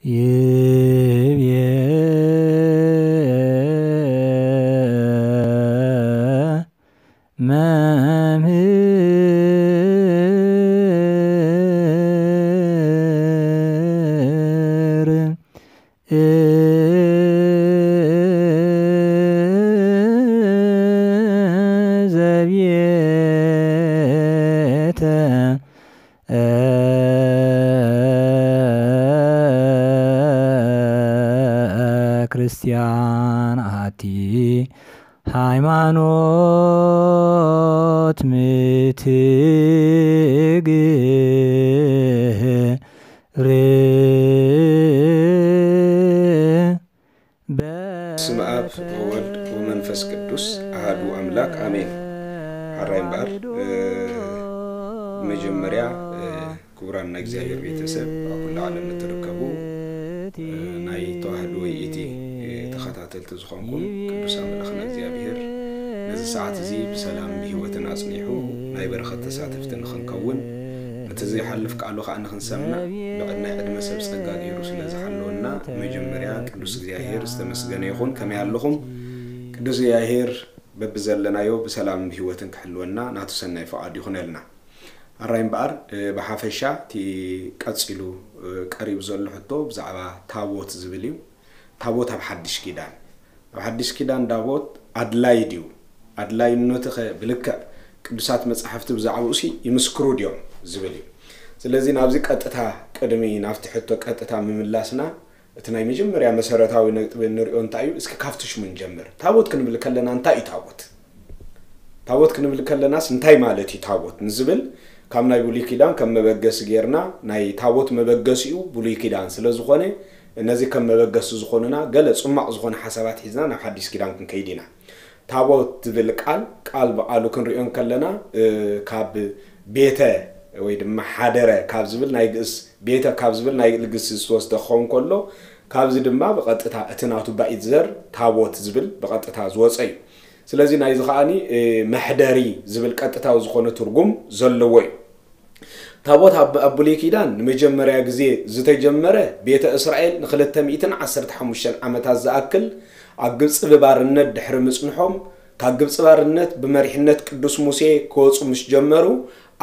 ይቤ መምህር ዘቤተ ክርስቲያን ኣቲ ሃይማኖት ምትግር በስመ አብ ወወልድ ወመንፈስ ቅዱስ አሐዱ አምላክ አሜን። ሐራይ እምበኣር መጀመርያ ክቡራን ናይ እግዚኣብሔር ቤተሰብ ኣብ ኩሉ ዓለም እትርከቡ ናይ ተዋህዶ ወይ እቲ ተኸታተልቲ ዝኾንኩም ቅዱስ ኣምላኽና እግዚኣብሔር ነዚ ሰዓት እዚ ብሰላም ብህይወትን ኣጽኒሑ ናይ በረኸት ተሳተፍቲ ንኽንከውን ነቲ ዘይሓልፍ ቃሉ ከዓ ንኽንሰምዕ ብዕድናይ ዕድመ ሰብ ጸጋ ገይሩ ስለ ዝሓለወና መጀመርያ ቅዱስ እግዚኣብሔር ዝተመስገነ ይኹን። ከመይ ኣለኹም? ቅዱስ እግዚኣብሔር በብዘለናዮ ብሰላም ብህይወትን ክሕልወና ናቱ ሰናይ ፍቓድ ይኹነልና። ኣራይ እምበኣር ብሓፈሻ እቲ ቀጺሉ ቀሪቡ ዘሎ ሕቶ ብዛዕባ ታቦት ዝብል እዩ። ታቦት ኣብ ሓድሽ ኪዳን ኣብ ሓድሽ ኪዳን ታቦት ኣድላይ ድዩ? ኣድላይነቱ ኸ ብልክዕ ቅዱሳት መጻሕፍቲ ብዛዕባኡ ሲ ይምስክሩ ድዮም ዝብል እዩ። ስለዚ ናብዚ ቀጥታ ቅድሚ ናብቲ ሕቶ ቀጥታ ምምላስና እቲ ናይ መጀመርያ መሰረታዊ ነጥቢ እንሪኦ እንታይ እዩ? እስኪ ካብቲ ሽሙ ንጀምር። ታቦት ክንብል ከለና እንታይ እዩ ታቦት? ታቦት ክንብል ከለናስ እንታይ ማለት እዩ ታቦት ንዝብል ካብ ናይ ብሉይ ኪዳን ከም መበገሲ ጌርና ናይ ታቦት መበገሲኡ ብሉይ ኪዳን ስለ ዝኾነ ነዚ ከም መበገሲ ዝኾኑና ገለ ጽማቕ ዝኾነ ሓሳባት ሒዝና ናብ ሓዲስ ኪዳን ክንከይድ ኢና። ታቦት ዝብል ቃል ቃል ብቃሉ ክንሪኦ እንከለና ካብ ቤተ ወይ ድማ ሓደረ ካብ ዝብል ናይ ግእስ ቤተ ካብ ዝብል ናይ ግእስ ዝተወስደ ክኸውን ከሎ ካብዚ ድማ ብቐጥታ እቲ ናቱ ባኢት ዘር ታቦት ዝብል ብቐጥታ ዝወፀ እዩ። ስለዚ ናይዚ ከዓኒ መሕደሪ ዝብል ቀጥታዊ ዝኾነ ትርጉም ዘለዎ እዩ። ታቦት ኣብ ኣብ ብሉይ ኪዳን ንመጀመርያ ግዜ ዝተጀመረ ቤተ እስራኤል ንክልተ ሚእትን ዓሰርተ ሓሙሽተን ዓመታት ዝኣክል ኣብ ግብፂ ብባርነት ድሕሪ ምፅንሖም ካብ ግብፂ ባርነት ብመሪሕነት ቅዱስ ሙሴ ክወፁ ምስ ጀመሩ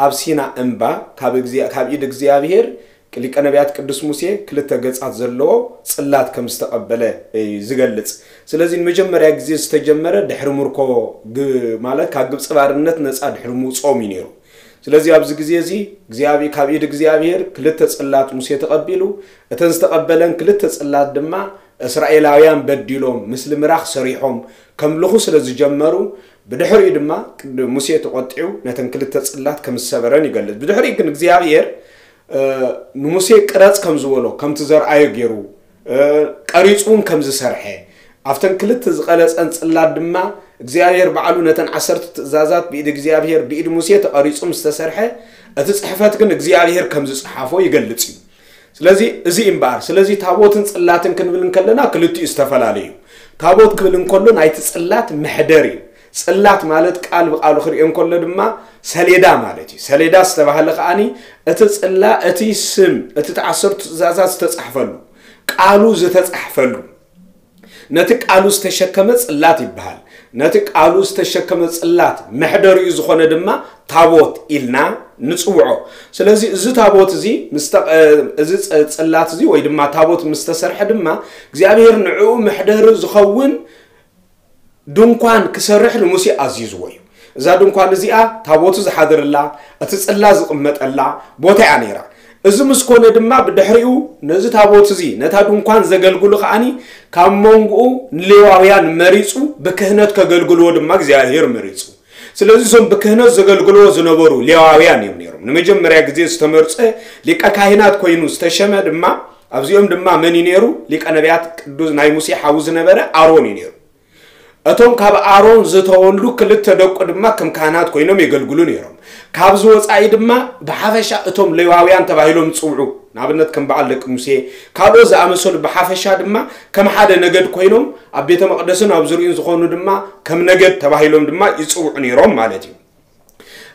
ኣብ ሲና እምባ ካብ እግዚኣብ- ካብ ኢድ እግዚኣብሔር ሊቀ ነቢያት ቅዱስ ሙሴ ክልተ ገጻት ዘለዎ ጽላት ከም ዝተቐበለ እዩ ዝገልጽ። ስለዚ ንመጀመርያ ግዜ ዝተጀመረ ድሕሪ ምርኮ ግ- ማለት ካብ ግብጺ ባርነት ነጻ ድሕሪ ምውጽኦም እዩ ነይሩ። ስለዚ ኣብዚ ግዜ እዚ እግዚኣብ- ካብ ኢድ እግዚኣብሔር ክልተ ጽላት ሙሴ ተቐቢሉ እተን ዝተቐበለን ክልተ ጽላት ድማ እስራኤላውያን በዲሎም ምስሊ ምራኽ ሰሪሖም ከምልኹ ስለ ዝጀመሩ ብድሕሪኡ ድማ ቅድ- ሙሴ ተቖጢዑ ነተን ክልተ ጽላት ከም ዝሰበረን ይገልጽ። ብድሕሪኡ ግን እግዚኣብሔር ንሙሴ ቅረጽ ከም ዝበሎ ከምቲ ዘርኣዮ ገይሩ ቀሪጹ እውን ከም ዝሰርሐ ኣብተን ክልተ ዝቐለጸን ጽላት ድማ እግዚኣብሔር ባዕሉ ነተን ዓሰርተ ትእዛዛት ብኢድ እግዚኣብሔር ብኢድ ሙሴ ተቐሪጹ ምስ ተሰርሐ እቲ ጽሕፈት ግን እግዚኣብሔር ከም ዝጸሓፎ ይገልጽ እዩ። ስለዚ እዚ እምበኣር ስለዚ ታቦትን ጽላትን ክንብል እንከለና ክልቲኡ ዝተፈላለዩ እዩ። ታቦት ክብል እንከሎ ናይቲ ጽላት መሕደር እዩ። ጽላት ማለት ቃል ብቃሉ ክርእዮ እንከሎ ድማ ሰሌዳ ማለት እዩ። ሰሌዳ ዝተባህለ ከዓኒ እቲ ጽላ እቲ ስም እቲ ተዓሰርቱ ትእዛዛት ዝተጻሕፈሉ ቃሉ ዝተጻሕፈሉ ነቲ ቃሉ ዝተሸከመ ጽላት ይበሃል። ነቲ ቃሉ ዝተሸከመ ጽላት መሕደሪኡ ዝኾነ ድማ ታቦት ኢልና ንጽውዖ። ስለዚ እዚ ታቦት እዚ ምስ ተቐ- እዚ ጽ- ጽላት እዚ ወይ ድማ ታቦት ምስ ተሰርሐ ድማ እግዚኣብሔር ንዕኡ መሕደሪ ዝኸውን ድንኳን ክሰርሕ ንሙሴ ኣዚዝዎ እዩ። እዛ ድንኳን እዚኣ ታቦቱ ዝሓድርላ እቲ ጽላ ዝቕመጠላ ቦታ እያ ነይራ። እዚ ምስ ኮነ ድማ ብድሕሪኡ ነዚ ታቦት እዚ ነታ ድንኳን ዘገልግሉ ከዓኒ ካብ መንጎኡ ንሌዋውያን መሪጹ ብክህነት ከገልግልዎ ድማ እግዚኣብሔር መሪጹ። ስለዚ እዞም ብክህነት ዘገልግልዎ ዝነበሩ ሌዋውያን እዮም ነይሮም። ንመጀመርያ ግዜ ዝተመርጸ ሊቀ ካህናት ኮይኑ ዝተሸመ ድማ ኣብዚኦም ድማ መን እዩ ነይሩ? ሊቀ ነቢያት ቅዱስ ናይ ሙሴ ሓዉ ዝነበረ ኣሮን እዩ ነይሩ። እቶም ካብ ኣሮን ዝተወልዱ ክልተ ደቁ ድማ ከም ካህናት ኮይኖም የገልግሉ ነይሮም። ካብዚ ወጻኢ ድማ ብሓፈሻ እቶም ሌዋውያን ተባሂሎም ዝጽውዑ ንኣብነት ከም በዓል ደቂ ሙሴ ካልኦት ዝኣመሰሉ ብሓፈሻ ድማ ከም ሓደ ነገድ ኮይኖም ኣብ ቤተ መቕደስን ኣብ ዙሪኡን ዝኾኑ ድማ ከም ነገድ ተባሂሎም ድማ ይጽውዑ ነይሮም ማለት እዩ።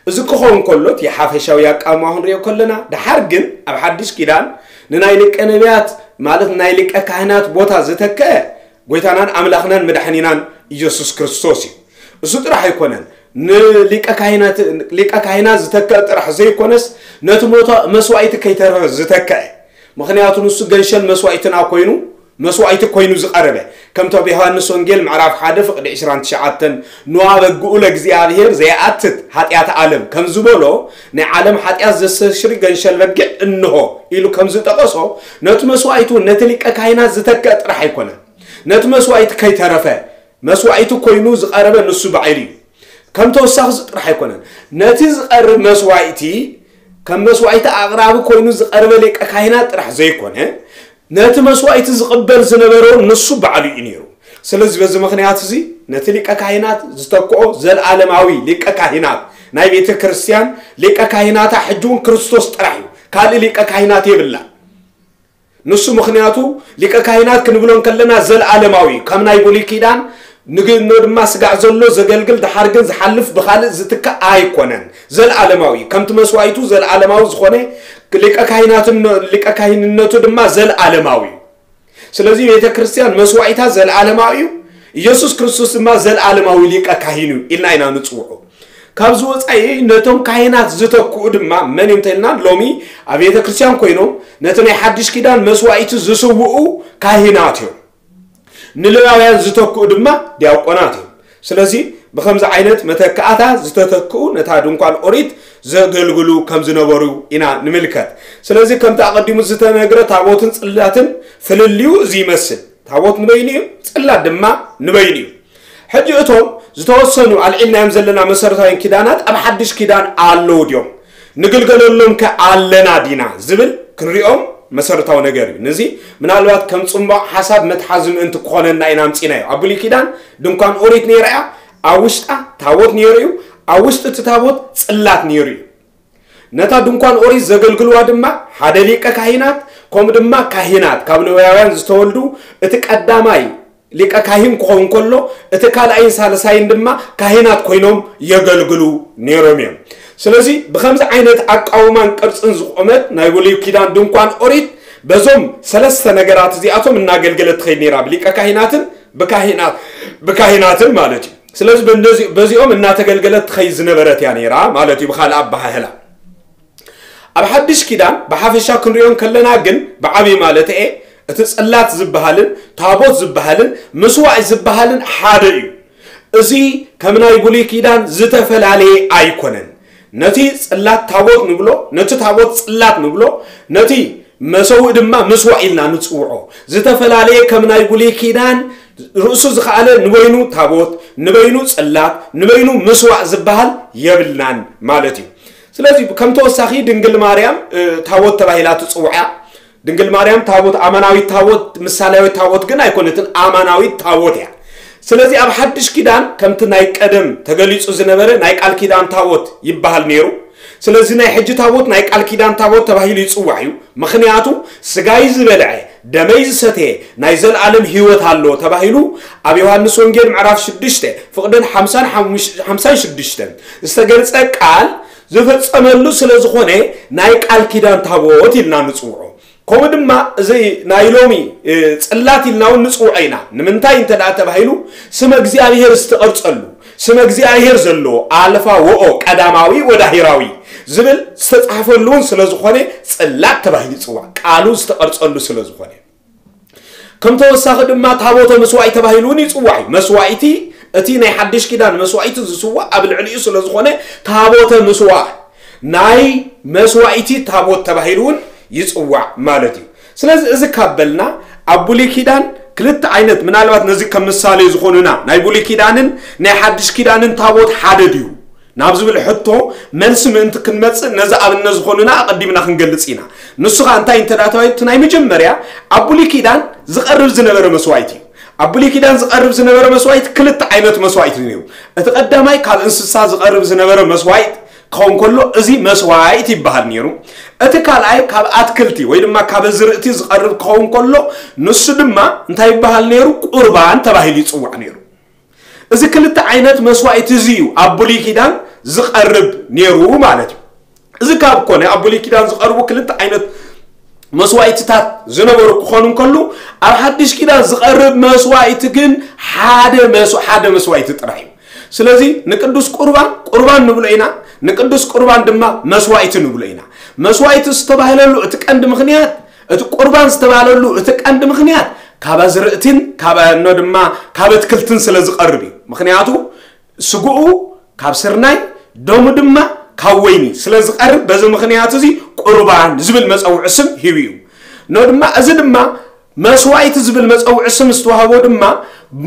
እዚ ክኸውን ከሎ እቲ ሓፈሻዊ ኣቃውማ ክንሪኦ ከለና ድሓር ግን ኣብ ሓድሽ ኪዳን ንናይ ደቂ ነቢያት ማለት ናይ ሊቀ ካህናት ቦታ ዝተክአ ጎይታናን ኣምላኽናን መድሓኒናን ኢየሱስ ክርስቶስ እዩ። እሱ ጥራሕ ኣይኮነን። ንሊቀ ካህናት፣ ሊቀ ካህናት ዝተክአ ጥራሕ ዘይኮነስ፣ ነቲ ሞቶ መስዋዕቲ ከይተረፈ ዝተክአ። ምኽንያቱ ንሱ ገንሸል መስዋዕትና ኮይኑ፣ መስዋዕቲ ኮይኑ ዝቐረበ። ከምቲ ኣብ ዮሃንስ ወንጌል ምዕራፍ ሓደ ፍቕዲ ዕስራን ትሽዓተን፣ "ንዋ በግኡ ለእግዚኣብሔር ዘይኣትት ኃጢአት ዓለም" ከም ዝበሎ፣ ናይ ዓለም ኃጢአት ዘስተስሪ ገንሸል በጊዕ እንሆ ኢሉ ከም ዝጠቐሶ፣ ነቲ መስዋዕቱ ነቲ ሊቀ ካህናት ዝተክአ ጥራሕ ኣይኮነን። ነቲ መስዋዕቲ ከይተረፈ መስዋዕቲ ኮይኑ ዝቐረበ ንሱ ባዕሉ እዩ። ከም ተወሳኺ እዚ ጥራሕ ኣይኮነን። ነቲ ዝቐርብ መስዋዕቲ ከም መስዋዕቲ ኣቕራቢ ኮይኑ ዝቐረበ ሊቀ ካህናት ጥራሕ ዘይኮነ፣ ነቲ መስዋዕቲ ዝቕበል ዝነበረ ንሱ ባዕሉ እዩ ነይሩ። ስለዚ በዚ ምኽንያት እዚ ነቲ ሊቀ ካህናት ዝተክኦ ዘልዓለማዊ ሊቀ ካህናት ናይ ቤተ ክርስቲያን ሊቀ ካህናታ ሕጂ እውን ክርስቶስ ጥራሕ እዩ። ካልእ ሊቀ ካህናት የብላን። ንሱ ምኽንያቱ ሊቀ ካህናት ክንብሎ እንከለና ዘልዓለማዊ እዩ። ከም ናይ ብሉይ ኪዳን ንግኖ ድማ ስጋዕ ዘሎ ዘገልግል ድሓር ግን ዝሓልፍ ብኻልእ ዝትካእ ኣይኮነን። ዘልዓለማዊ እዩ። ከምቲ መስዋዕቱ ዘልዓለማዊ ዝኾነ ሊቀ ካህናትን-፣ ሊቀ ካህንነቱ ድማ ዘልዓለማዊ እዩ። ስለዚ ቤተ ክርስቲያን መስዋዕታ ዘልዓለማዊ እዩ። ኢየሱስ ክርስቶስ ድማ ዘልዓለማዊ ሊቀ ካህን እዩ ኢልና ኢና ንጽውዖ። ካብዚ ወጻኢ ነቶም ካህናት ዝተክኡ ድማ መን እዮም ተልና ሎሚ ኣብ ቤተ ክርስቲያን ኮይኖም ነቲ ናይ ሓድሽ ኪዳን መስዋዕቲ ዝስውኡ ካህናት እዮም። ንሌዋውያን ዝተክኡ ድማ ዲያቆናት እዮም። ስለዚ ብኸምዚ ዓይነት መተካእታ ዝተተክኡ ነታ ድንኳን ኦሪት ዘገልግሉ ከም ዝነበሩ ኢና ንምልከት። ስለዚ ከምቲ ኣቐዲሙ ዝተነግረ ታቦትን ጽላትን ፍልልዩ እዚ ይመስል። ታቦት ንበይኑ እዩ፣ ጽላት ድማ ንበይኑ እዩ። ሕጂ እቶም ዝተወሰኑ ኣልዒልናዮም ዘለና መሰረታውያን ኪዳናት ኣብ ሓድሽ ኪዳን ኣለዉ ድዮም? ንግልገለሎም ከ ኣለና ዲና ዝብል ክንሪኦም መሰረታዊ ነገር እዩ። ነዚ ምናልባት ከም ጽምባቕ ሓሳብ መትሓዚ ምእንቲ ክኾነና ኢና ኣምጺናዮ። ኣብ ብሉይ ኪዳን ድንኳን ኦሪት ነይራ እያ፣ ኣብ ውሽጣ ታቦት ነይሩ እዩ፣ ኣብ ውሽጢ እቲ ታቦት ጽላት ነይሩ እዩ። ነታ ድንኳን ኦሪት ዘገልግልዋ ድማ ሓደ ሊቀ ካህናት፣ ከምኡ ድማ ካህናት፣ ካብ ሌዋውያን ዝተወልዱ፣ እቲ ቀዳማይ ሊቀ ካህን ክኸውን ከሎ፣ እቲ ካልኣይን ሳልሳይን ድማ ካህናት ኮይኖም የገልግሉ ነይሮም እዮም። ስለዚ ብኸምዚ ዓይነት ኣቃውማን ቅርጽን ዝቖመት ናይ ብሉይ ኪዳን ድንኳን ኦሪት በዞም ሰለስተ ነገራት እዚኣቶም እናገልገለት ትኸይድ ነይራ፣ ብሊቀ ካህናትን ብካህናት-፣ ብካህናትን ማለት እዩ። ስለዚ በነዚ-፣ በዚኦም እናተገልገለት ትኸይድ ዝነበረት እያ ነይራ ማለት እዩ። ብኻልእ ኣበሃህላ ኣብ ሓድሽ ኪዳን ብሓፈሻ ክንሪኦ እንከለና ግን ብዓብዪ ማለት እየ እቲ ጽላት ዝበሃልን ታቦት ዝበሃልን ምስዋዕ ዝበሃልን ሓደ እዩ። እዚ ከም ናይ ብሉይ ኪዳን ዝተፈላለየ ኣይኮነን። ነቲ ጽላት ታቦት ንብሎ፣ ነቲ ታቦት ጽላት ንብሎ፣ ነቲ መሰውእ ድማ ምስዋዕ ኢልና ንጽውዖ። ዝተፈላለየ ከም ናይ ብሉይ ኪዳን ርእሱ ዝኸኣለ ንበይኑ ታቦት፣ ንበይኑ ጽላት፣ ንበይኑ ምስዋዕ ዝበሃል የብልናን ማለት እዩ። ስለዚ ከም ተወሳኺ ድንግል ማርያም፣ እ፣ ታቦት ተባሂላ ትጽዋዕ እያ። ድንግል ማርያም ታቦት፣ ኣማናዊት ታቦት፣ ምሳሌያዊት ታቦት ግን ኣይኮነትን፣ ኣማናዊት ታቦት እያ። ስለዚ ኣብ ሓድሽ ኪዳን ከምቲ ናይ ቀደም ተገሊጹ ዝነበረ ናይ ቃል ኪዳን ታቦት ይበሃል ነይሩ። ስለዚ ናይ ሕጂ ታቦት ናይ ቃል ኪዳን ታቦት ተባሂሉ ይጽዋዕ እዩ። ምኽንያቱ ስጋይ ዝበልዐ ደመይ ዝሰተየ ናይ ዘለኣለም ህይወት ኣሎ ተባሂሉ ኣብ ዮሃንስ ወንጌል ምዕራፍ ሽዱሽተ ፍቕድን ሓምሳን ሓሙሽ-፣ ሓምሳን ሽዱሽተን ዝተገልጸ ቃል ዝፈጸመሉ ስለ ዝኾነ ናይ ቃል ኪዳን ታቦት ኢልና ንጽውዖ። ከምኡ ድማ እዚ ናይ ሎሚ፣ እ፣ ጽላት ኢልና እውን ንጽውዖ ኢና። ንምንታይ እንተ ደኣ ተባሂሉ ስመ እግዚኣብሔር ዝተቐርጸሉ፣ ስመ እግዚኣብሔር ዘለዎ ኣልፋ ወኦ ቀዳማዊ ወዳሂራዊ ዝብል ዝተጻሕፈሉ እውን ስለ ዝኾነ ጽላት ተባሂሉ ይጽዋዕ። ቃሉ ዝተቐርጸሉ ስለ ዝኾነ። ከም ተወሳኺ ድማ ታቦተ መስዋዕቲ ተባሂሉ እውን ይጽዋዕ እዩ። መስዋዕቲ፣ እቲ ናይ ሓድሽ ኪዳን መስዋዕቲ ዝስዋዕ ኣብ ልዕሊኡ ስለ ዝኾነ ታቦተ መስዋዕ ናይ መስዋዕቲ ታቦት ተባሂሉ እውን ይጽዋዕ ማለት እዩ። ስለዚ እዚ ካብ በልና ኣብ ብሉይ ኪዳን ክልተ ዓይነት፣ ምናልባት ነዚ ከም ምሳሌ ዝኾኑና ናይ ብሉይ ኪዳንን ናይ ሓድሽ ኪዳንን ታቦት ሓደ ድዩ ናብ ዝብል ሕቶ መልሲ ምእንቲ ክንመጽእ ነዚ ኣብነት ዝኾኑና ኣቐዲምና ክንገልጽ ኢና። ንሱ ኸኣ እንታይ እንተ ደኣ ተባሂሉ፣ እቲ ናይ መጀመርያ ኣብ ብሉይ ኪዳን ዝቐርብ ዝነበረ መስዋዕቲ እዩ። ኣብ ብሉይ ኪዳን ዝቐርብ ዝነበረ መስዋዕቲ ክልተ ዓይነት መስዋዕቲ እዩ ነይሩ። እቲ ቀዳማይ ካብ እንስሳ ዝቐርብ ዝነበረ መስዋዕቲ ክኸውን ከሎ እዚ መስዋዕቲ ይበሃል ነይሩ። እቲ ካልኣይ ካብ ኣትክልቲ ወይ ድማ ካብ ኣዝርእቲ ዝቐርብ ክኸውን ከሎ ንሱ ድማ እንታይ ይበሃል ነይሩ? ቁርባን ተባሂሉ ይጽዋዕ ነይሩ። እዚ ክልተ ዓይነት መስዋዕቲ እዚ እዩ ኣብ ብሉይ ኪዳን ዝቐርብ ነይሩ ማለት እዩ። እዚ ካብ ኮነ ኣብ ብሉይ ኪዳን ዝቐርቡ ክልተ ዓይነት መስዋእትታት ዝነበሩ ክኾኑ እንከሉ፣ ኣብ ሓድሽ ኪዳን ዝቐርብ መስዋእቲ ግን ሓደ መስ ሓደ መስዋእቲ ጥራይ እዩ። ስለዚ ንቅዱስ ቁርባን ቁርባን ንብሎ ኢና፣ ንቅዱስ ቁርባን ድማ መስዋእቲ ንብሎ ኢና። መስዋእቲ ዝተባህለሉ እቲ ቀንዲ ምኽንያት፣ እቲ ቁርባን ዝተባህለሉ እቲ ቀንዲ ምኽንያት ካብ ኣዝርእትን ካብ እኖ ድማ ካብ ኣትክልትን ስለ ዝቐርብ እዩ። ምኽንያቱ ስግኡ ካብ ስርናይ፣ ደሙ ድማ ካብ ወይኒ ስለ ዝቐርብ፣ በዚ ምኽንያት እዚ ቁርባን ዝብል መጸውዒ ስም ሂቡ እዩ። እኖ ድማ፣ እዚ ድማ መስዋእቲ ዝብል መጸውዒ ስም ዝተዋህቦ ድማ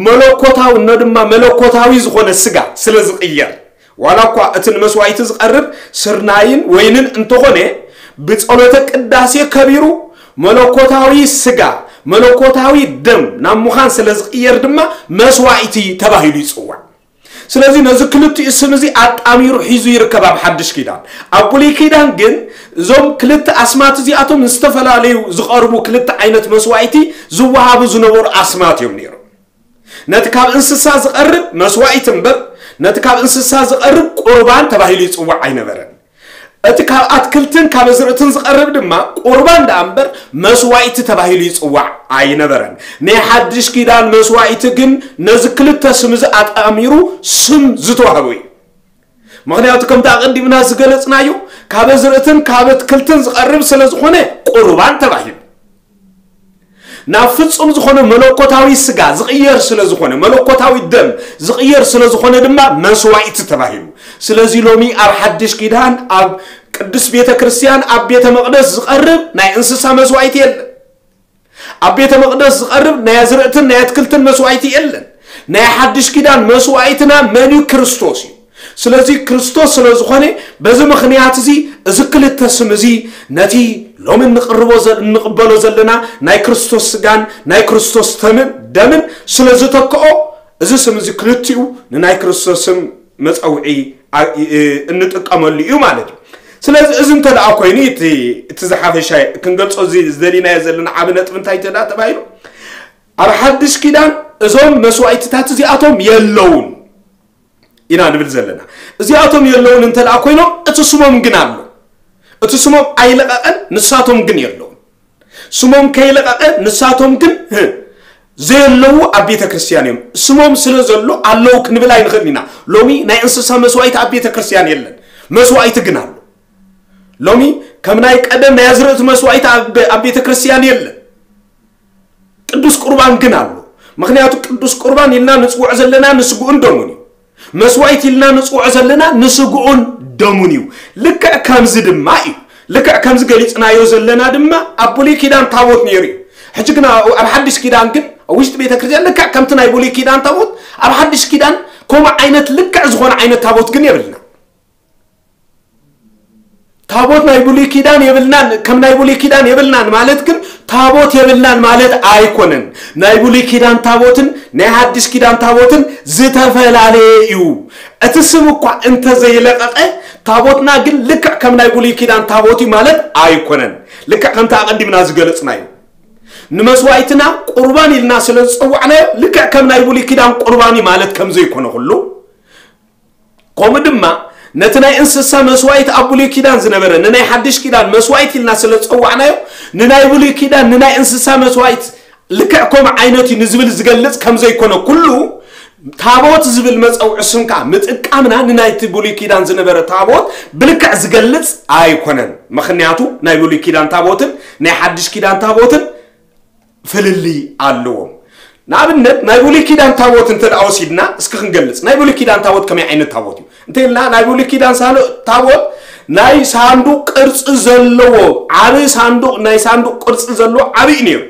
መለኮታዊ፣ እኖ ድማ መለኮታዊ ዝኾነ ስጋ ስለ ዝቕየር፣ ዋላ እኳ እቲ ንመስዋእቲ ዝቐርብ ስርናይን ወይንን እንተኾነ፣ ብጸሎተ ቅዳሴ ከቢሩ መለኮታዊ ስጋ፣ መለኮታዊ ደም ናብ ምዃን ስለ ዝቕየር ድማ መስዋእቲ ተባሂሉ ይጽዋዕ። ስለዚ ነዚ ክልቲኡ ስም እዚ ኣጣሚሩ ሒዙ ይርከብ ኣብ ሓድሽ ኪዳን። ኣብ ብሉይ ኪዳን ግን እዞም ክልተ ኣስማት እዚኣቶም ንዝተፈላለዩ ዝቐርቡ ክልተ ዓይነት መስዋእቲ ዝወሃቡ ዝነበሩ ኣስማት እዮም ነይሮም። ነቲ ካብ እንስሳ ዝቐርብ መስዋእቲ እምበር፣ ነቲ ካብ እንስሳ ዝቐርብ ቁርባን ተባሂሉ ይጽዋዕ ኣይነበረን። እቲ ካብ ኣትክልትን ካብ ኣዝርእትን ዝቐርብ ድማ ቁርባን ደኣ እምበር መስዋእቲ ተባሂሉ ይጽዋዕ ኣይነበረን። ናይ ሓድሽ ኪዳን መስዋእቲ ግን ነዚ ክልተ ስም እዚ ኣጣሚሩ ስም ዝተዋህቦ እዩ። ምኽንያቱ ከምቲ ኣቐዲምና ዝገለጽናዮ ካብ ኣዝርእትን ካብ ኣትክልትን ዝቐርብ ስለ ዝኾነ ቁርባን ተባሂሉ። ናብ ፍጹም ዝኾነ መለኮታዊ ስጋ ዝቕየር ስለ ዝኾነ፣ መለኮታዊ ደም ዝቕየር ስለ ዝኾነ ድማ መስዋእቲ ተባሂሉ። ስለዚ ሎሚ ኣብ ሓድሽ ኪዳን ኣብ ቅዱስ ቤተ ክርስቲያን ኣብ ቤተ መቕደስ ዝቐርብ ናይ እንስሳ መስዋእቲ የለን። ኣብ ቤተ መቕደስ ዝቐርብ ናይ ኣዝርእትን ናይ ኣትክልትን መስዋእቲ የለን። ናይ ሓድሽ ኪዳን መስዋእትና መን እዩ? ክርስቶስ እዩ። ስለዚ ክርስቶስ ስለ ዝኾነ በዚ ምኽንያት እዚ እዚ ክልተ ስም እዚ ነቲ ሎሚ እንቕርቦ ዘ- እንቕበሎ ዘለና ናይ ክርስቶስ ስጋን ናይ ክርስቶስ ተምን ደምን ስለ ዝተክኦ እዚ ስም እዚ ክልቲኡ ንናይ ክርስቶስ ስም መጸውዒ ኣ- እ- እ- እንጥቀመሉ እዩ ማለት እዩ። ስለዚ እዚ እንተ ደኣ ኮይኑ እቲ እቲ ዝሓፈሻ ክንገልጾ እዚ ዝደሊናዮ ዘለና ዓቢ ነጥቢ እንታይ እንተ ደኣ ተባሂሉ ኣብ ሓድሽ ኪዳን እዞም መስዋእትታት እዚኣቶም የለውን ኢና ንብል ዘለና። እዚኣቶም የለውን እንተ ደኣ ኮይኖም እቲ ስሞም ግን ኣሎ። እቲ ስሞም ኣይለቐቐን፣ ንሳቶም ግን የለውን። ስሞም ከይለቐቐ ንሳቶም ግን ህ፣ ዘየለዉ ኣብ ቤተ ክርስቲያን እዮም። ስሞም ስለ ዘሎ ኣለዉ ክንብል ኣይንኽእል ኢና። ሎሚ ናይ እንስሳ መስዋእቲ ኣብ ቤተ ክርስቲያን የለን። መስዋእቲ ግን ኣሎ። ሎሚ ከም ናይ ቀደም ናይ ኣዝርእቲ መስዋእቲ ኣብ ኣብ ቤተ ክርስቲያን የለን። ቅዱስ ቁርባን ግን ኣሎ። ምኽንያቱ ቅዱስ ቁርባን ኢልና ንጽውዖ ዘለና ንስግኡን ደሙን እዩ። መስዋእቲ ኢልና ንጽውዖ ዘለና ንስግኡን ደሙን እዩ። ልክዕ ከምዚ ድማ እዩ። ልክዕ ከምዚ ገሊጽናዮ ዘለና ድማ ኣብ ብሉይ ኪዳን ታቦት ነይሩ እዩ። ሕጂ ግን ኣብ ኣብ ሓድሽ ኪዳን ግን ኣብ ውሽጢ ቤተ ክርስቲያን ልክዕ ከምቲ ናይ ብሉይ ኪዳን ታቦት ኣብ ሓድሽ ኪዳን ከምኡ ዓይነት ልክዕ ዝኾነ ዓይነት ታቦት ግን የብልና። ታቦት ናይ ብሉይ ኪዳን የብልናን፣ ከም ናይ ብሉይ ኪዳን የብልናን ማለት ግን ታቦት የብልናን ማለት ኣይኮነን። ናይ ብሉይ ኪዳን ታቦትን ናይ ሓድሽ ኪዳን ታቦትን ዝተፈላለየ እዩ። እቲ ስም እኳ እንተዘይለቐቐ ታቦትና ግን ልክዕ ከም ናይ ብሉይ ኪዳን ታቦት እዩ ማለት ኣይኮነን። ልክዕ ከምቲ ኣቐዲምና ዝገለጽናዮ ንመስዋእትና ቁርባን ኢልና ስለ ዝጸዋዕናዮ ልክዕ ከም ናይ ብሉይ ኪዳን ቁርባን እዩ ማለት ከም ዘይኮነ ኩሉ ከምኡ ድማ ነቲ ናይ እንስሳ መስዋእቲ ኣብ ብሉይ ኪዳን ዝነበረ ንናይ ሓድሽ ኪዳን መስዋእቲ ኢልና ስለ ዝጸዋዕናዮ ንናይ ብሉይ ኪዳን ንናይ እንስሳ መስዋእቲ ልክዕ ከምኡ ዓይነት እዩ ንዝብል ዝገልጽ ከም ዘይኮነ ኩሉ ታቦት ዝብል መጸውዒ ስም ከዓ ምጥቃምና ንናይቲ ብሉይ ኪዳን ዝነበረ ታቦት ብልክዕ ዝገልጽ ኣይኮነን። ምኽንያቱ ናይ ብሉይ ኪዳን ታቦትን ናይ ሓድሽ ኪዳን ታቦትን ፍልልይ ኣለዎም። ንኣብነት ናይ ብሉይ ኪዳን ታቦት እንተ ደኣ ወሲድና እስኪ ክንገልጽ። ናይ ብሉይ ኪዳን ታቦት ከመይ ዓይነት ታቦት እዩ? እንተ ኢልና ናይ ብሉይ ኪዳን ሳሎ- ታቦት ናይ ሳንዱቕ ቅርጺ ዘለዎ ዓቢ ሳንዱቕ ናይ ሳንዱቕ ቅርጺ ዘለዎ ዓቢ እዩ ነይሩ።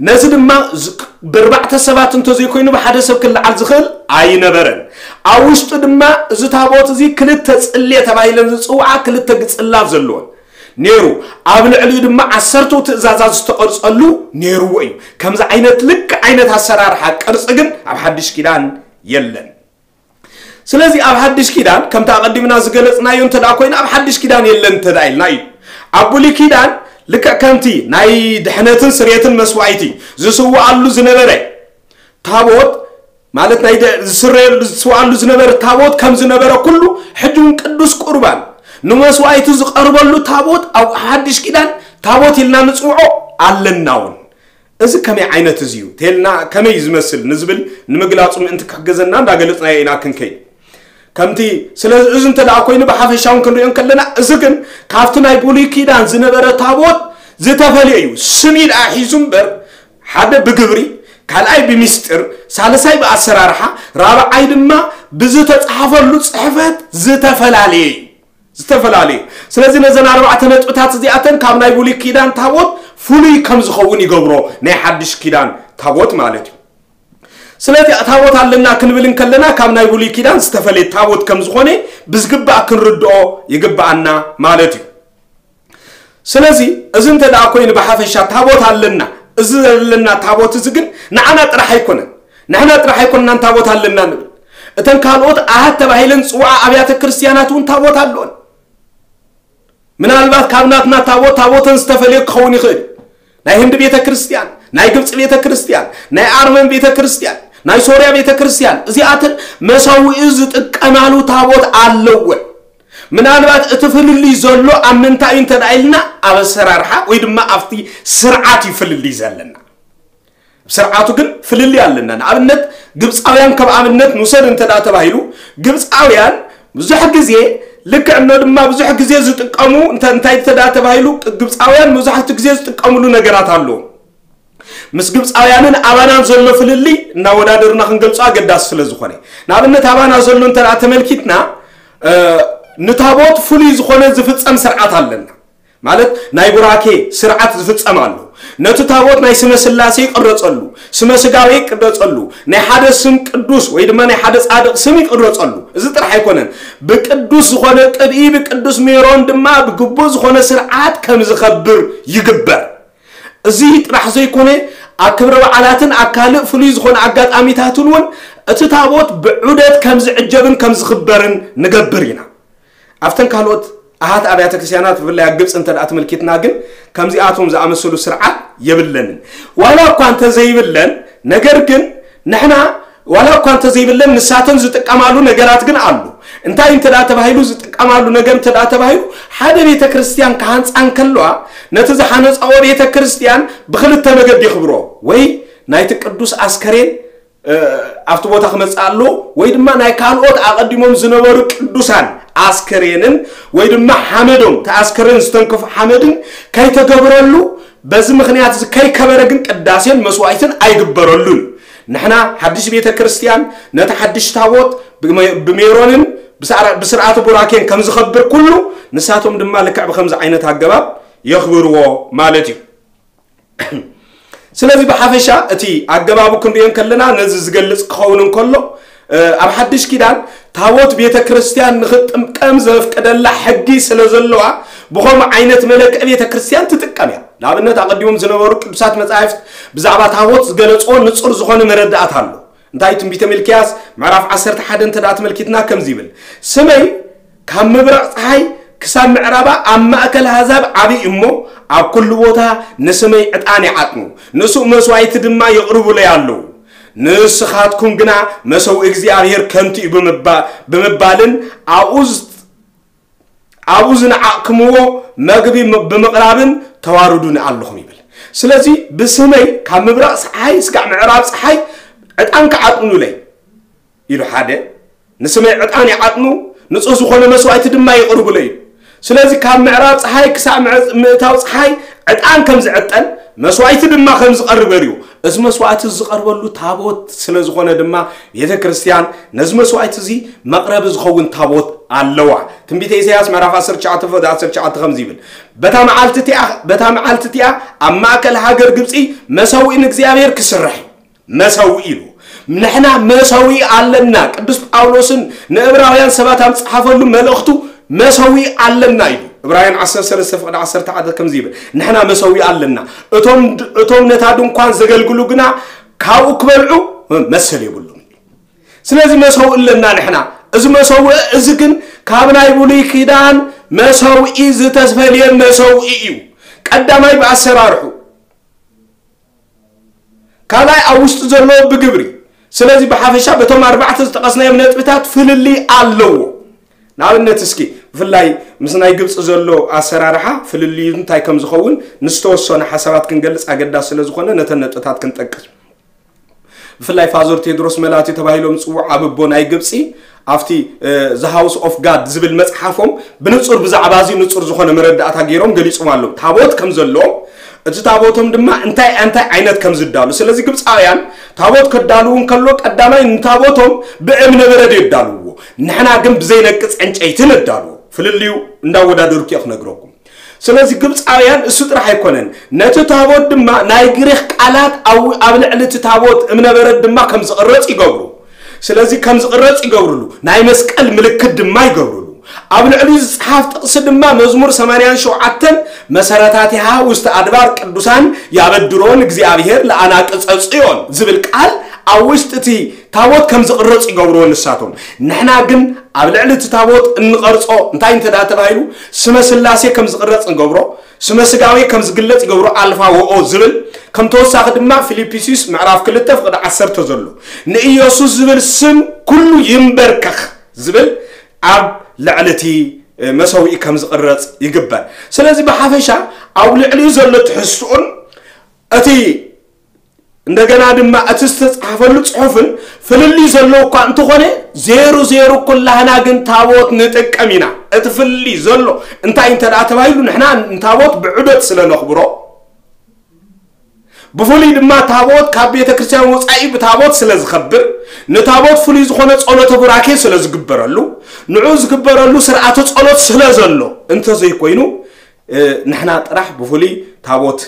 ነዚ ድማ ዝ- ብርባዕተ ሰባት እንተ ዘይኮይኑ ብሓደ ሰብ ክለዓል ዝኽእል ኣይነበረን። ኣብ ውሽጡ ድማ እዚ ታቦት እዚ ክልተ ጽሌ ተባሂለን ዝጽውዓ ክልተ ግጽላት ዘለዎን ነይሩ። ኣብ ልዕሊኡ ድማ ዓሰርተው ትእዛዛት ዝተቐርጸሉ ነይርዎ እዩ። ከምዚ ዓይነት ልክዕ ዓይነት ኣሰራርሓ ቅርጺ ግን ኣብ ሓድሽ ኪዳን የለን። ስለዚ ኣብ ሓድሽ ኪዳን ከምቲ ኣቐዲምና ዝገለጽናዮ እንተ ደኣ ኮይኑ ኣብ ሓድሽ ኪዳን የለን እንተ ደኣ ኢልና እዩ። ኣብ ብሉይ ኪዳን ልክዕ ከምቲ ናይ ድሕነትን ስርየትን መስዋእቲ ዝስውኣሉ ዝነበረ ታቦት ማለት ናይ ደ- ዝስረየሉ ዝስውኣሉ ዝነበረ ታቦት ከም ዝነበረ ኩሉ ሕጂ እውን ቅዱስ ቁርባን ንመስዋእቲ ዝቐርበሉ ታቦት ኣብ ሓድሽ ኪዳን ታቦት ኢልና ንፅውዖ ኣለና እውን። እዚ ከመይ ዓይነት እዚ እዩ ተልና፣ ከመይ ዝመስል ንዝብል ንምግላፁ ምእንቲ ክሕገዘና እንዳገለፅናዮ ኢና ክንከይድ። ከምቲ ስለ እዚ እንተ ደኣ ኮይኑ ብሓፈሻውን ክንሪኦ እንከለና፣ እዚ ግን ካብቲ ናይ ብሉይ ኪዳን ዝነበረ ታቦት ዝተፈልየ እዩ። ስም እዩ ደኣ ሒዙ እምበር፣ ሓደ ብግብሪ፣ ካልኣይ ብሚስጥር፣ ሳልሳይ ብኣሰራርሓ፣ ራብዓይ ድማ ብዝተፃሓፈሉ ፅሕፈት ዝተፈላለየ እዩ። ዝተፈላለየ። ስለዚ ነዘን ኣርባዕተ ነጥብታት እዚኣተን ካብ ናይ ብሉይ ኪዳን ታቦት ፍሉይ ከም ዝኸውን ይገብሮ፣ ናይ ሓድሽ ኪዳን ታቦት ማለት እዩ። ስለዚ ታቦት ኣለና ክንብል እንከለና ካብ ናይ ብሉይ ኪዳን ዝተፈለየ ታቦት ከም ዝኾነ ብዝግባእ ክንርድኦ ይግብኣና ማለት እዩ። ስለዚ እዚ እንተ ደኣ ኮይኑ ብሓፈሻ ታቦት ኣለና፣ እዚ ዘለና ታቦት እዚ ግን ንዓና ጥራሕ ኣይኮነን። ንሕና ጥራሕ ኣይኮንናን ታቦት ኣለና ንብል። እተን ካልኦት ኣሃት ተባሂለን ዝፅውዓ ኣብያተ ክርስቲያናት እውን ታቦት ኣለወን። ምናልባት ካብ ናትና ታቦት ታቦተን ዝተፈልየ ክኸውን ይኽእል። ናይ ህንዲ ቤተ ክርስቲያን፣ ናይ ግብፂ ቤተ ክርስቲያን፣ ናይ ኣርመን ቤተ ክርስቲያን፣ ናይ ሶርያ ቤተ ክርስቲያን፣ እዚኣተን መሰውኢ ዝጥቀማሉ ታቦት ኣለወን። ምናልባት እቲ ፍልልይ ዘሎ ኣብ ምንታይ እዩ እንተ ደኣ ኢልና፣ ኣብ ኣሰራርሓ ወይ ድማ ኣብቲ ስርዓት እዩ ፍልልይ ዘለና። ስርዓቱ ግን ፍልልይ ኣለና። ንኣብነት ግብፃውያን ከም ኣብነት ንውሰድ እንተ ደኣ ተባሂሉ፣ ግብፃውያን ብዙሕ ግዜ ልክዕ እኖ ድማ ብዙሕ ግዜ ዝጥቀሙ እንተ-፣ እንታይ እንተ ደኣ ተባሂሉ፣ ግብፃውያን መብዛሕትኡ ግዜ ዝጥቀምሉ ነገራት ኣለዎም። ምስ ግብፃውያንን ኣባናን ዘሎ ፍልልይ እናወዳደርና ክንገልፆ ኣገዳሲ ስለ ዝኾነ፣ ንኣብነት ኣባና ዘሎ እንተ ደኣ ተመልኪትና፣ እ፣ ንታቦት ፍሉይ ዝኾነ ዝፍፀም ስርዓት ኣለና። ማለት ናይ ቡራኬ ስርዓት ዝፍፀም ኣሎ። ነቲ ታቦት ናይ ስመ ስላሴ ይቅረፀሉ፣ ስመ ስጋዌ ይቅረፀሉ፣ ናይ ሓደ ስም ቅዱስ ወይ ድማ ናይ ሓደ ጻድቅ ስም ይቅረፀሉ። እዚ ጥራሕ ኣይኮነን፣ ብቅዱስ ዝኾነ ቅብኢ ብቅዱስ ሜሮን ድማ ብግቡእ ዝኾነ ስርዓት ከም ዝኸብር ይግበር። እዚ ጥራሕ ዘይኮነ፣ ኣብ ክብረ በዓላትን ኣብ ካልእ ፍሉይ ዝኾነ ኣጋጣሚታትን እውን እቲ ታቦት ብዑደት ከም ዝዕጀብን ከም ዝኽበርን ንገብር ኢና። ኣብተን ካልኦት ኣሃት ኣብያተ ክርስቲያናት ብፍላይ ኣብ ግብፂ እንተ ደኣ ተመልኪትና ግን ከምዚኣቶም ዝኣመሰሉ ስርዓት የብለንን። ዋላ እኳ እንተዘይብለን፣ ነገር ግን ንሕና ዋላ እኳ እንተዘይብለን ንሳተን ዝጥቀማሉ ነገራት ግን ኣሎ። እንታይ እንተ ደኣ ተባሂሉ ዝጥቀማሉ ነገር እንተ ደኣ ተባሂሉ፣ ሓደ ቤተ ክርስቲያን ክሃንፃ እንከለዋ ነቲ ዝሓነፃኦ ቤተ ክርስቲያን ብክልተ መገዲ የኽብሮ፣ ወይ ናይቲ ቅዱስ ኣስከሬን እ፣ ኣብቲ ቦታ ክመጽእ ኣለዎ፣ ወይ ድማ ናይ ካልኦት ኣቐዲሞም ዝነበሩ ቅዱሳን ኣስከሬንን ወይ ድማ ሓመዶም፣ እቲ ኣስከሬን ዝተንከፎ ሓመድን ከይተገብረሉ፣ በዚ ምኽንያት እዚ ከይከበረ ግን ቅዳሴን መስዋዕትን ኣይግበረሉን። ንሕና ሓድሽ ቤተ ክርስቲያን ነቲ ሓድሽ ታቦት ብመ-፣ ብሜሮንን ብስራ-፣ ብስርዓተ ቡራኬን ከም ዝኸብር ኩሉ፣ ንሳቶም ድማ ልክዕ ብኸምዚ ዓይነት ኣገባብ የኽብርዎ ማለት እዩ። ስለዚ ብሓፈሻ እቲ ኣገባቡ ክንሪኦ እንከለና ነዚ ዝገልጽ ክኸውን እንከሎ፣ እ፣ ኣብ ሓድሽ ኪዳን ታቦት ቤተ ክርስቲያን ንኽትጥቀም ዘፍቀደላ ሕጊ ስለ ዘለዋ፣ ብኸምኡ ዓይነት መለክዒ ቤተ ክርስቲያን ትጥቀም እያ። ንኣብነት ኣቐዲሞም ዝነበሩ ቅዱሳት መጻሕፍት ብዛዕባ ታቦት ዝገለጽዎ ንጹር ዝኾነ መረዳእታ ኣሎ። እንታይ ትንቢተ ሚልክያስ ምዕራፍ ዓሰርተ ሓደ እንተ ደኣ ተመልኪትና ከምዚ ይብል፣ ስመይ ካብ ምብራቕ ፀሓይ ክሳብ ምዕራባ ኣብ ማእከል ኣህዛብ ዓብይ እሞ፣ ኣብ ኩሉ ቦታ ንስመይ ዕጣን ይዓጥኑ፣ ንሱእ መስዋዕቲ ድማ የቕርቡለይ ኣለዉ። ንስኻትኩም ግና መሰውኢ እግዚኣብሔር ከንቱ እዩ ብምባ-፣ ብምባልን ኣብኡ ዝ-፣ ኣብኡ ዝነዓቕክምዎ መግቢ ም-፣ ብምቕራብን ተዋርዱኒ ኣለኹም ይብል። ስለዚ ብስመይ ካብ ምብራቕ ፀሓይ እስካዕ ምዕራብ ፀሓይ ዕጣን ክዓጥኑለይ ኢሉ ሓደ፣ ንስመይ ዕጣን ይዓጥኑ፣ ንጹህ ዝኾነ መስዋዕቲ ድማ የቕርቡለይ እዩ። ስለዚ ካብ ምዕራብ ጸሓይ ክሳዕ ምዕ-፣ ምእታው ጸሓይ ዕጣን ከም ዝዕጠን፣ መስዋዕቲ ድማ ከም ዝቐርብ እዩ። እዚ መስዋዕቲ ዝቐርበሉ ታቦት ስለ ዝኾነ ድማ ቤተ ክርስቲያን ነዚ መስዋዕቲ እዚ መቕረቢ ዝኸውን ታቦት ኣለዋ። ትንቢተ ኢሳያስ ምዕራፍ ዓሰርተ ትሽዓተ ፍቕዲ ዓሰርተ ትሽዓተ ከምዚ ይብል፣ በታ መዓልቲ እቲኣ፣ በታ መዓልቲ እቲኣ ኣብ ማእከል ሃገር ግብጺ መሰውኢ ንእግዚኣብሔር ክስራሕ እዩ። መሰውኢ ኢሉ። ንሕና መሰውኢ ኣለና። ቅዱስ ጳውሎስን ንዕብራውያን ሰባት ኣብ ዝጸሓፈሉ መልእኽቱ መሰውኢ ኣለና ኢሉ። ዕብራውያን ዓሰርተ ሰለስተ ፍቕዲ ዓሰርተ ሓደ ከምዚ ይብል፣ ንሕና መሰውኢ ኣለና። እቶም ድ-፣ እቶም ነታ ድንኳን ዘገልግሉ ግና ካብኡ ክበልዑ መሰል የብሉም። ስለዚ መሰውኢ ኣለና ንሕና። እዚ መሰውኢ እዚ ግን ካብ ናይ ብሉይ ኪዳን መሰውኢ ዝተፈልየ መሰውኢ እዩ። ቀዳማይ ብኣሰራርሑ፣ ካልኣይ ኣብ ውሽጢ ዘሎ ብግብሪ። ስለዚ ብሓፈሻ በቶም ኣርባዕተ ዝጠቐስናዮም ነጥብታት ፍልልይ ኣለዎ። ንኣብነት እስኪ ብፍላይ ምስ ናይ ግብፂ ዘሎ ኣሰራርሓ ፍልልዩ እንታይ ከም ዝኸውን ንዝተወሰኑ ሓሳባት ክንገልፅ ኣገዳሲ ስለ ዝኾነ ነተን ነጥብታት ክንጠቅስ። ብፍላይ ፋዘር ቴድሮስ መላቲ ተባሂሎም ዝፅውዑ ዓቢ ኣቦ ናይ ግብፂ ኣብቲ The House of God ዝብል መፅሓፎም ብንፁር ብዛዕባ እዚ ንፁር ዝኾነ መረዳእታ ገይሮም ገሊፆም ኣለዉ። ታቦት ከም ዘለዎም፣ እቲ ታቦቶም ድማ እንታይ እንታይ ዓይነት ከም ዝዳሉ። ስለዚ ግብፃውያን ታቦት ከዳልዉ እንከሎ ቀዳማይ ንታቦቶም ብእምነ በረድ የዳልውዎ። ንሕና ግን ብዘይነቅፅ ዕንጨይቲ ነዳልዎ። ፍልልዩ እንዳወዳደርኩ እየ ክነግረኩም። ስለዚ ግብፃውያን እሱ ጥራሕ ኣይኮነን፣ ነቲ ታቦት ድማ ናይ ግሪኽ ቃላት ኣብ ኣብ ልዕሊ እቲ ታቦት እምነበረድ ድማ ከም ዝቕረፅ ይገብሩ። ስለዚ ከም ዝቕረፅ ይገብርሉ፣ ናይ መስቀል ምልክት ድማ ይገብርሉ። ኣብ ልዕሊኡ ዝፀሓፍ ጥቕሲ ድማ መዝሙር ሰማንያን ሸውዓተን መሰረታቲሃ ውስተ ኣድባር ቅዱሳን ያበድሮን እግዚኣብሔር ለአናቅጸ ጽዮን ዝብል ቃል ኣብ ውሽጢ እቲ ታቦት ከም ዝቕረፅ ይገብርዎ ንሳቶም። ንሕና ግን ኣብ ልዕሊ እቲ ታቦት እንቐርጾ እንታይ እንተ ደኣ ተባሂሉ ስመ ስላሴ ከም ዝቕረፅ ንገብሮ፣ ስመ ስጋዌ ከም ዝግለጽ ይገብሮ ኣልፋ ወኦ ዝብል ከም ተወሳኺ ድማ ፊልፒስዩስ ምዕራፍ ክልተ ፍቕዲ ዓሰርተ ዘሎ ንኢየሱስ ዝብል ስም ኩሉ ይንበርከኽ ዝብል ኣብ ልዕሊ እቲ መሰውኢ ከም ዝቕረጽ ይግበር። ስለዚ ብሓፈሻ ኣብ ልዕሊኡ ዘሎ ትሕዝትኡን እቲ እንደገና ድማ እቲ ዝተጻሕፈሉ ጽሑፍን ፍልልይ ዘለዎ እኳ እንተኾነ ዜሩ ዜሩ ኩላህና ግን ታቦት ንጥቀም ኢና። እቲ ፍልልይ ዘሎ እንታይ እንተ ደኣ ተባሂሉ ንሕና ንታቦት ብዑደት ስለ ነኽብሮ ብፍሉይ ድማ ታቦት ካብ ቤተ ክርስቲያን ወጻኢ ብታቦት ስለ ዝኸብር ንታቦት ፍሉይ ዝኾነ ጸሎተ ቡራኬ ስለ ዝግበረሉ ንዑ ዝግበረሉ ስርዓተ ጸሎት ስለ ዘሎ እንተዘይኮይኑ ንሕና ጥራሕ ብፍሉይ ታቦት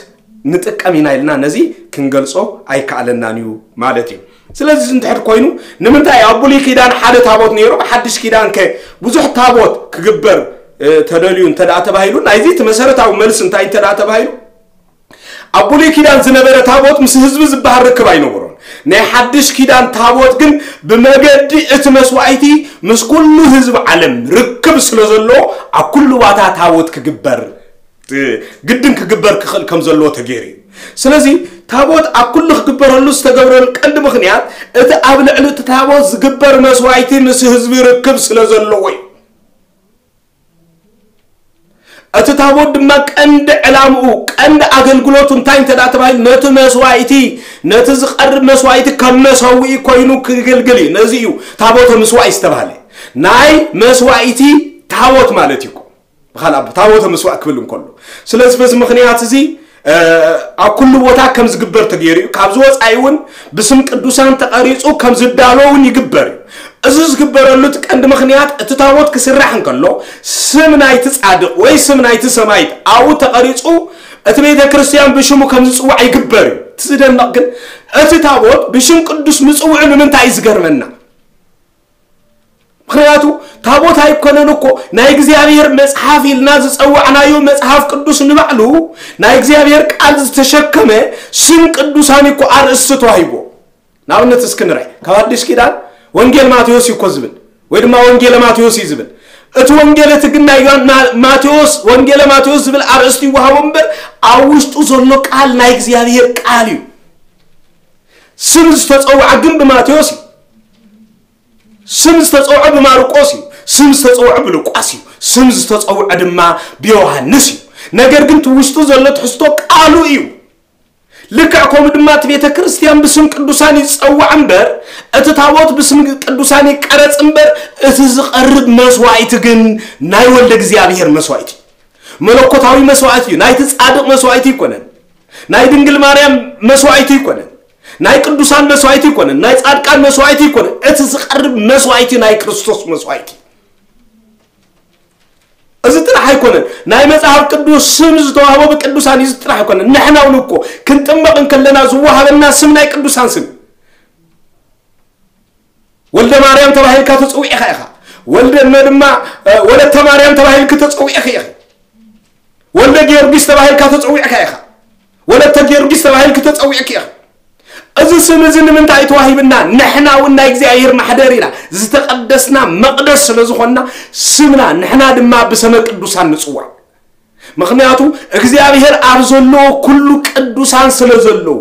ንጥቀም ኢና ኢልና ነዚ ክንገልጾ ኣይከኣለናን እዩ ማለት እዩ። ስለዚ እንድሕር ኮይኑ ንምንታይ ኣብ ብሉይ ኪዳን ሓደ ታቦት ነይሩ፣ ኣብ ሓድሽ ኪዳን ከ ብዙሕ ታቦት ክግበር ተደልዩ እንተ ደኣ ተባሂሉ ናይዚ እቲ መሰረታዊ መልሲ እንታይ እንተ ደኣ ተባሂሉ ኣብ ብሉይ ኪዳን ዝነበረ ታቦት ምስ ህዝቢ ዝበሃል ርክብ ኣይነበሮን። ናይ ሓድሽ ኪዳን ታቦት ግን ብመገዲ እቲ መስዋእቲ ምስ ኩሉ ህዝቢ ዓለም ርክብ ስለ ዘለዎ ኣብ ኩሉ ባታ ታቦት ክግበር ግድን ክግበር ክኽእል ከም ዘለዎ ተገይሩ እዩ። ስለዚ ታቦት ኣብ ኩሉ ክግበረሉ ዝተገብረሉ ቀንዲ ምኽንያት እቲ ኣብ ልዕሊ እቲ ታቦት ዝግበር መስዋእቲ ምስ ህዝቢ ርክብ ስለ ዘለዎ እዩ። እቲ ታቦት ድማ ቀንዲ ዕላምኡ ቀንዲ ኣገልግሎቱ እንታይ እንተ ደኣ ተባሂሉ ነቲ መስዋእቲ ነቲ ዝቐርብ መስዋእቲ ከም መሰውኢ ኮይኑ ክገልግል እዩ። ነዚ እዩ ታቦተ ምስዋእ ዝተባህለ ናይ መስዋእቲ ታቦት ማለት እዩ። ብኻልእ ኣቦ ታቦተ ምስዋእ ክብል እንከሎ ስለዚ በዚ ምኽንያት እዚ ኣብ ኩሉ ቦታ ከም ዝግበር ተገይሩ እዩ። ካብዚ ወፃኢ እውን ብስም ቅዱሳን ተቐሪፁ ከም ዝዳሎ እውን ይግበር እዩ። እዚ ዝግበረሉ እቲ ቀንዲ ምኽንያት እቲ ታቦት ክስራሕ እንከሎ ስም ናይቲ ፃድቕ ወይ ስም ናይቲ ሰማይት ኣብኡ ተቐሪፁ እቲ ቤተ ክርስቲያን ብሽሙ ከም ዝፅዋዕ ይግበር እዩ። እቲ ዝደንቕ ግን እቲ ታቦት ብሽም ቅዱስ ምፅውዑ ንምንታይ እዩ ዝገርመና? ምኽንያቱ ታቦት ኣይኮነን እኮ ናይ እግዚኣብሔር መፅሓፍ ኢልና ዝፀዋዕናዮ መፅሓፍ ቅዱስ ንባዕሉ ናይ እግዚኣብሔር ቃል ዝተሸከመ ስም ቅዱሳን እኮ ኣርእስቲ ተዋሂቦ። ንኣብነት እስኪ ንርአ ካብ ኣዲስ ኪዳን ወንጌል ማቴዎስ እዩ እኮ ዝብል ወይ ድማ ወንጌለ ማቴዎስ እዩ ዝብል እቲ ወንጌል እቲ ግን ናይ ዮሃን- ማ- ማቴዎስ ወንጌለ ማቴዎስ ዝብል ኣርእስቲ ይወሃቦ እምበር ኣብ ውሽጡ ዘሎ ቃል ናይ እግዚኣብሔር ቃል እዩ። ስም ዝተፀውዐ ግን ብማቴዎስ እዩ። ስም ዝተፀውዐ ብማርቆስ እዩ። ስም ዝተፀውዐ ብሉቃስ እዩ። ስም ዝተፀውዐ ድማ ብዮሃንስ እዩ። ነገር ግን እቲ ውሽጡ ዘሎ ትሕዝቶ ቃሉ እዩ። ልክዕ ከምኡ ድማ እቲ ቤተ ክርስቲያን ብስም ቅዱሳን ይፀዋዕ እምበር እቲ ታቦት ብስም ቅዱሳን ይቀረፅ እምበር እቲ ዝቐርብ መስዋእቲ ግን ናይ ወልደ እግዚኣብሔር መስዋእቲ እዩ። መለኮታዊ መስዋእቲ እዩ። ናይቲ ፃድቕ መስዋእቲ ኣይኮነን። ናይ ድንግል ማርያም መስዋእቲ ኣይኮነን። ናይ ቅዱሳን መስዋእቲ ኣይኮነን። ናይ ፃድቃን መስዋእቲ ኣይኮነን። እቲ ዝቐርብ መስዋእቲ ናይ ክርስቶስ መስዋእቲ እዚ ጥራሕ ኣይኮነን። ናይ መጽሓፍ ቅዱስ ስም ዝተዋህቦ ብቅዱሳን እዩ ጥራሕ ኣይኮነን። ንሕና እውን እኮ ክንጥመቕ እንከለና ዝወሃበና ስም ናይ ቅዱሳን ስም ወልደ ማርያም ተባሂልካ ተጸዊዕካ ኢኻ። ወልደ እመ ድማ ወለተ ማርያም ተባሂልክ ተጸዊዕክ ኢኺ። ወልደ ጊዮርጊስ ተባሂልካ ተጸዊዕካ ኢኻ። ወለተ ጊዮርጊስ ተባሂልክ ተጸዊዕክ ኢኺ። እዚ ስም እዚ ንምንታይ ተዋሂብና? ንሕና እውን ናይ እግዚኣብሔር ማሕደር ኢና፣ ዝተቐደስና መቕደስ ስለ ዝኾንና ስምና ንሕና ድማ ብሰመ ቅዱሳን ንጽዋዕ። ምኽንያቱ እግዚኣብሔር ኣብ ዘለዎ ኩሉ ቅዱሳን ስለ ዘለዉ፣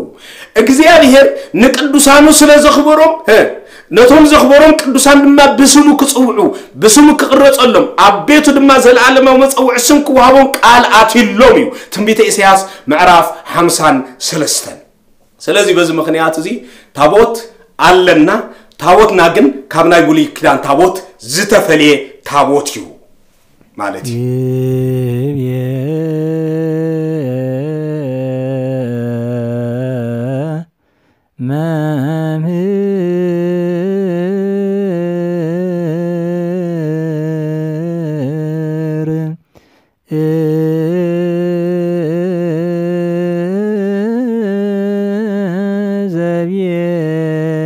እግዚኣብሔር ንቅዱሳኑ ስለ ዘኽበሮም፣ እ፣ ነቶም ዘኽበሮም ቅዱሳን ድማ ብስሙ ክጽውዑ፣ ብስሙ ክቕረጸሎም፣ ኣብ ቤቱ ድማ ዘለዓለማዊ መጸውዒ ስም ክወሃቦም ቃል ኣትዩሎም እዩ። ትንቢተ ኢሳያስ ምዕራፍ ሓምሳን ሰለስተን። ስለዚ በዚ ምኽንያት እዚ ታቦት ኣለና። ታቦትና ግን ካብ ናይ ብሉይ ኪዳን ታቦት ዝተፈልየ ታቦት እዩ ማለት እዩ። ይብየ መምህር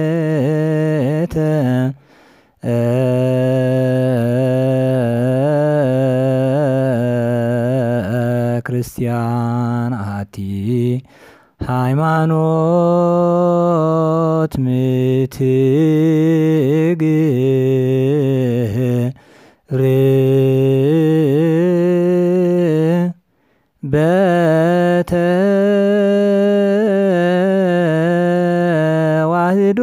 ዘብየተ ክርስቲያን ኣቲ ሃይማኖት ምትግብር በተዋህዶ